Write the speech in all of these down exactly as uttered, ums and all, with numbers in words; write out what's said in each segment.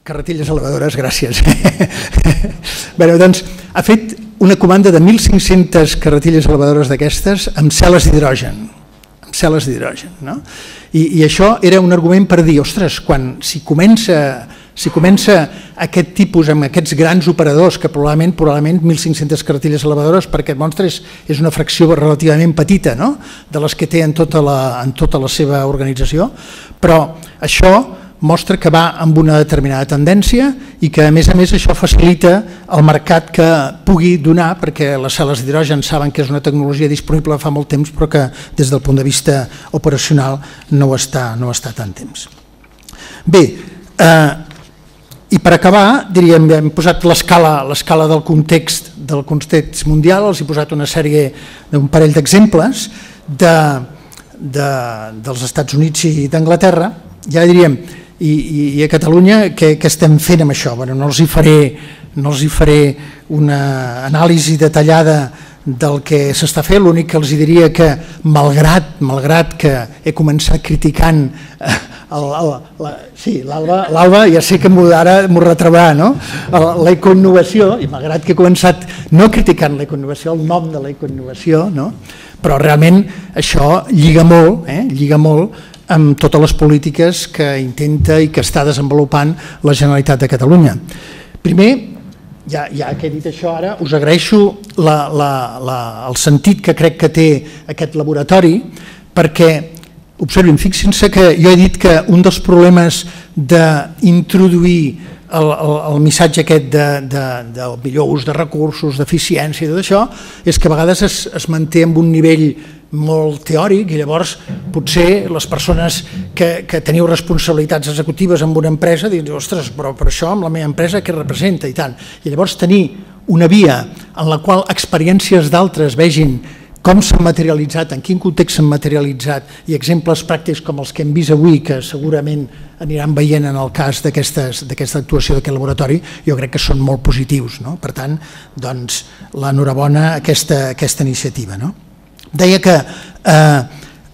carretilles elevadores, gràcies. Bé, doncs, ha fet una comanda de mil cinc-centes carretilles elevadores d'aquestes amb cel·les d'hidrogen, amb cel·les d'hidrogen, no? I, I això era un argument per dir, ostres, quan si comença... Si comença aquest tipus amb aquests grans operadors, que probablement probablement mil cinc-centes carretilles elevadores per aquest monstre és, és una fracció relativament petita, no?, de les que té en tota, la, en tota la seva organització, però això mostra que va amb una determinada tendència i que a més a més això facilita el mercat que pugui donar, perquè les cel·les d'hidrogen saben que és una tecnologia disponible fa molt temps però que des del punt de vista operacional no ho està, no està tant temps. Bé, eh, i per acabar, diríem, hem posat l'escala l'escala del context del context mundial, els he posat una sèrie d'un parell d'exemples de, de, dels Estats Units i d'Anglaterra, ja diríem, i, i, i a Catalunya què, què estem fent amb això? Bueno, no els hi faré, no els hi faré una anàlisi detallada del que s'està fent, l'únic que els diria que malgrat, malgrat que he començat criticant el, el, la, sí, l'Alba ja sé que ara m'ho retrobarà, no? La ecoinnovació, i malgrat que he començat no criticant l'ecoinnovació, el nom de l'ecoinnovació, no? Però realment això lliga molt, eh? lliga molt amb totes les polítiques que intenta i que està desenvolupant la Generalitat de Catalunya. Primer, Ja, ja que he dit això ara, us agraeixo la, la, la, el sentit que crec que té aquest laboratori, perquè, observin, fixin-se que jo he dit que un dels problemes d'introduir el, el, el missatge aquest de, de, del millor ús de recursos, d'eficiència i tot això, és que a vegades es, es manté en un nivell molt teòric i llavors potser les persones que, que teniu responsabilitats executives en una empresa diuen, ostres, però per això amb la meva empresa què representa i tant. I llavors tenir una via en la qual experiències d'altres vegin com s'han materialitzat, en quin context s'han materialitzat i exemples pràctics com els que hem vist avui, que segurament aniran veient en el cas d'aquesta actuació d'aquest laboratori, jo crec que són molt positius, no? Per tant, doncs, l'enhorabona a aquesta, aquesta iniciativa, no? Deia que eh,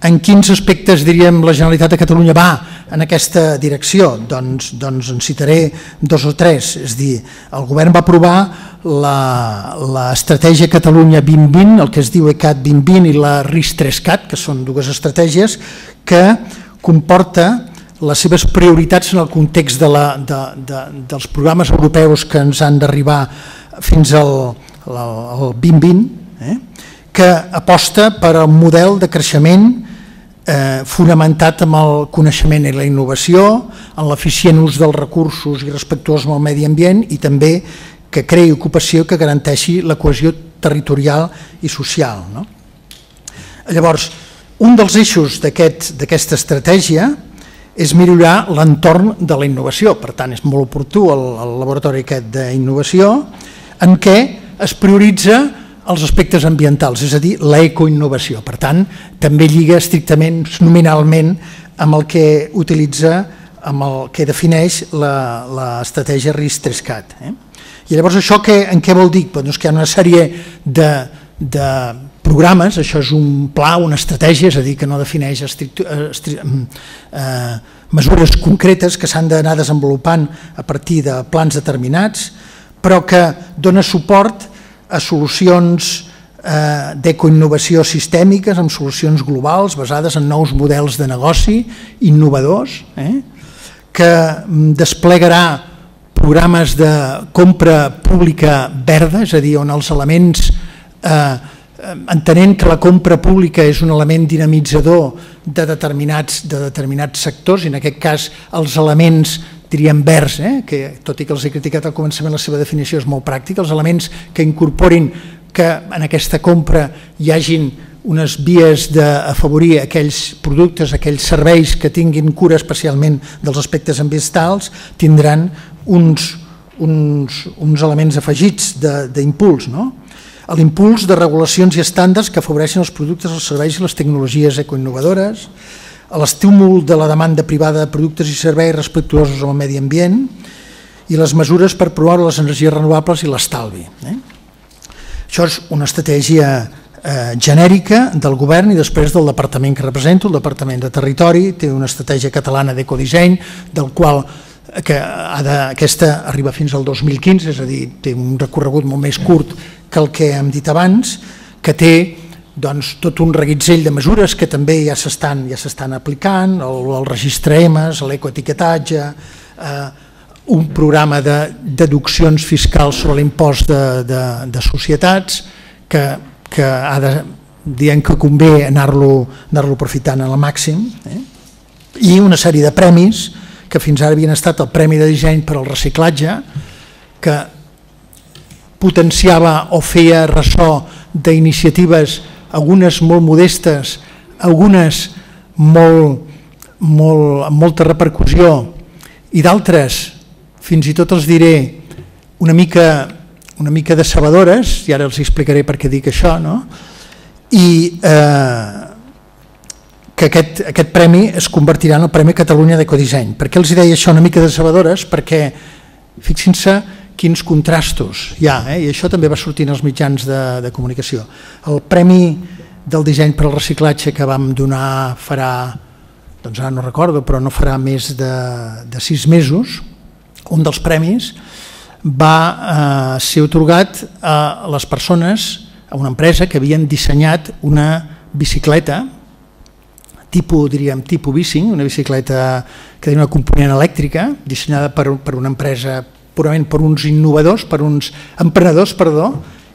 en quins aspectes, diríem, la Generalitat de Catalunya va en aquesta direcció, doncs, doncs en citaré dos o tres, és a dir, el govern va aprovar l'estratègia Catalunya vint vint, el que es diu ECAT vint vint i la RIS tres cat, que són dues estratègies que comporta les seves prioritats en el context de la, de, de, dels programes europeus que ens han d'arribar fins al, al vint vint, eh? que aposta per un model de creixement eh, fonamentat en el coneixement i la innovació, en l'eficient ús dels recursos i respectuós amb el medi ambient i també que creï ocupació que garanteixi la cohesió territorial i social, no? Llavors, un dels eixos d'aquesta estratègia és millorar l'entorn de la innovació, per tant és molt oportú el, el laboratori aquest d'innovació en què es prioritza els aspectes ambientals, és a dir, l'ecoinnovació. Per tant, també lliga estrictament, nominalment, amb el que utilitza, amb el que defineix l'estratègia RIS tres cat. Eh? I llavors això que, en què vol dir? Doncs que hi ha una sèrie de, de programes, això és un pla, una estratègia, és a dir, que no defineix estrict, estrict, eh, mesures concretes que s'han d'anar desenvolupant a partir de plans determinats, però que dona suport a solucions eh, d'ecoinnovació sistèmiques, amb solucions globals basades en nous models de negoci innovadors, eh, que desplegarà programes de compra pública verda, és a dir, on els elements, eh, entenent que la compra pública és un element dinamitzador de determinats, de determinats sectors, i en aquest cas els elements diríem verds, eh? que tot i que els he criticat al començament la seva definició és molt pràctica, els elements que incorporin que en aquesta compra hi hagin unes vies d'afavorir aquells productes, aquells serveis que tinguin cura especialment dels aspectes ambientals, tindran uns, uns, uns elements afegits d'impuls, no? L'impuls de regulacions i estàndards que afavoreixen els productes, els serveis i les tecnologies ecoinnovadores, l'estímul de la demanda privada de productes i serveis respectuosos amb el medi ambient i les mesures per promoure les energies renovables i l'estalvi. Eh? Això és una estratègia eh, genèrica del govern i després del departament que represento, el Departament de Territori, té una estratègia catalana d'ecodisseny, del qual que ha de, aquesta arriba fins al dos mil quinze, és a dir, té un recorregut molt més curt que el que hem dit abans, que té doncs, tot un reguitzell de mesures que també ja s'estan ja s'estan aplicant, el, el registre E M E S, l'ecoetiquetatge, eh, un programa de deduccions fiscals sobre l'impost de, de, de societats que, que ha de, dient que convé anar-lo anar-lo aprofitant al màxim, eh? I una sèrie de premis que fins ara havien estat el Premi de Disseny per al Reciclatge, que potenciava o feia ressò d'iniciatives, algunes molt modestes, algunes molt, molt, amb molta repercussió i d'altres, fins i tot els diré, una mica, una mica decebedores, i ara els explicaré per què dic això, no? I eh, que aquest, aquest premi es convertirà en el Premi Catalunya d'Ecodisseny. Per què els deia això una mica decebedores? Perquè fixin-se quins contrastos hi ha, eh? I això també va sortir en els mitjans de, de comunicació. El Premi del Disseny per al Reciclatge que vam donar farà, doncs ara no recordo, però no farà més de, de sis mesos, un dels premis va eh, ser atorgat a les persones, a una empresa que havien dissenyat una bicicleta tipus, diríem, tipus bicing, una bicicleta que tenia una component elèctrica, dissenyada per, per una empresa purament per uns innovadors, per uns emprenedors, perdó,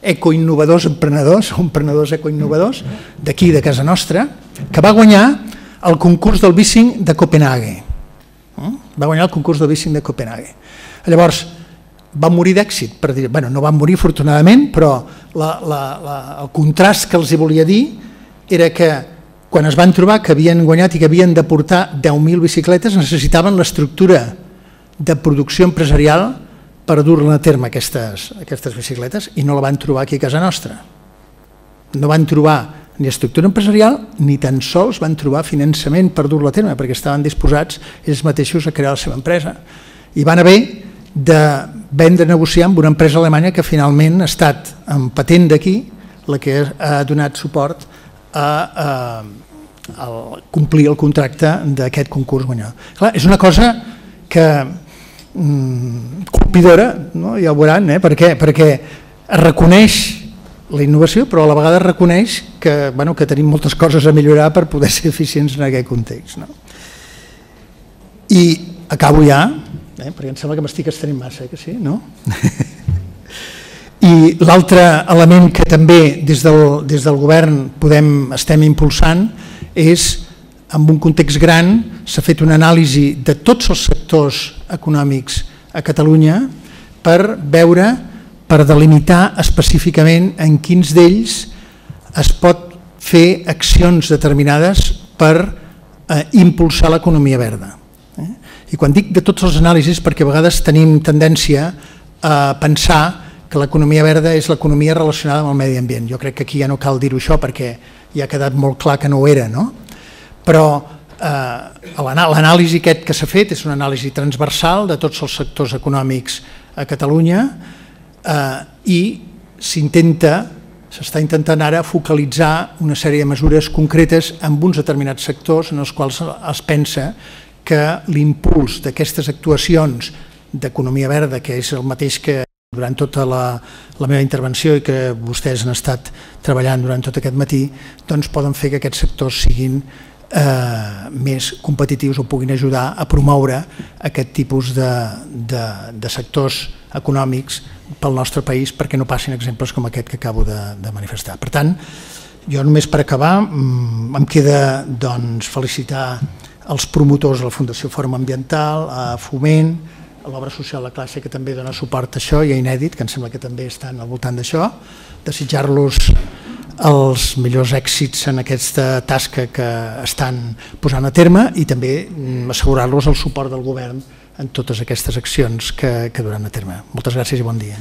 ecoinnovadors emprenedors, emprenedors ecoinnovadors, d'aquí, de casa nostra, que va guanyar el concurs del bicing de Copenhague. Va guanyar el concurs del bicing de Copenhague. Llavors, va morir d'èxit, per dir, bueno, no va morir afortunadament, però la, la, la, el contrast que els hi volia dir era que quan es van trobar que havien guanyat i que havien de portar deu mil bicicletes, necessitaven l'estructura de producció empresarial per dur-la a terme aquestes, aquestes bicicletes, i no la van trobar aquí a casa nostra. No van trobar ni estructura empresarial ni tan sols van trobar finançament per dur-la a terme, perquè estaven disposats ells mateixos a crear la seva empresa. I van haver de vendre, negociar amb una empresa alemanya que finalment ha estat en patent d'aquí la que ha donat suport a, a, a complir el contracte d'aquest concurs guanyador. Clar, és una cosa que mm, colpidora, no? Ja ho veuran, eh? Per què? Perquè es reconeix la innovació, però a la vegada es reconeix que, bueno, que tenim moltes coses a millorar per poder ser eficients en aquest context. No? I acabo ja, eh? Perquè em sembla que m'estic estenent massa, eh? Que sí, no? I l'altre element que també des del, des del govern podem, estem impulsant és, en un context gran, s'ha fet una anàlisi de tots els sectors econòmics a Catalunya per veure, per delimitar específicament en quins d'ells es pot fer accions determinades per eh, impulsar l'economia verda. Eh? I quan dic de tots els anàlisis, perquè a vegades tenim tendència a pensar que l'economia verda és l'economia relacionada amb el medi ambient. Jo crec que aquí ja no cal dir-ho això perquè ja ha quedat molt clar que no ho era, no? Però eh, l'anàlisi aquest que s'ha fet és una anàlisi transversal de tots els sectors econòmics a Catalunya eh, i s'intenta, s'està intentant ara focalitzar una sèrie de mesures concretes en uns determinats sectors en els quals es pensa que l'impuls d'aquestes actuacions d'economia verda, que és el mateix que durant tota la, la meva intervenció i que vostès han estat treballant durant tot aquest matí, doncs poden fer que aquests sectors siguin eh, més competitius o puguin ajudar a promoure aquest tipus de, de, de sectors econòmics pel nostre país perquè no passin exemples com aquest que acabo de, de manifestar. Per tant, jo només per acabar em queda doncs, felicitar els promotors de la Fundació Fòrum Ambiental, a Foment, a l'Obra Social de Classe, que també dona suport a això, i a Inèdit, que em sembla que també estan al voltant d'això, desitjar-los els millors èxits en aquesta tasca que estan posant a terme i també assegurar-los el suport del govern en totes aquestes accions que, que duran a terme. Moltes gràcies i bon dia.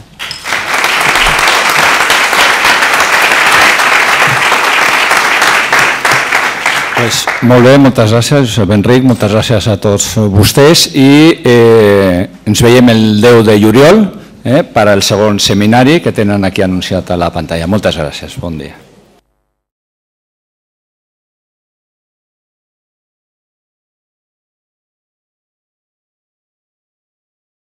Pues molt bé, moltes gràcies, Josep Enric, moltes gràcies a tots vostès i eh, ens veiem el deu de juliol eh, per al segon seminari que tenen aquí anunciat a la pantalla. Moltes gràcies, bon dia.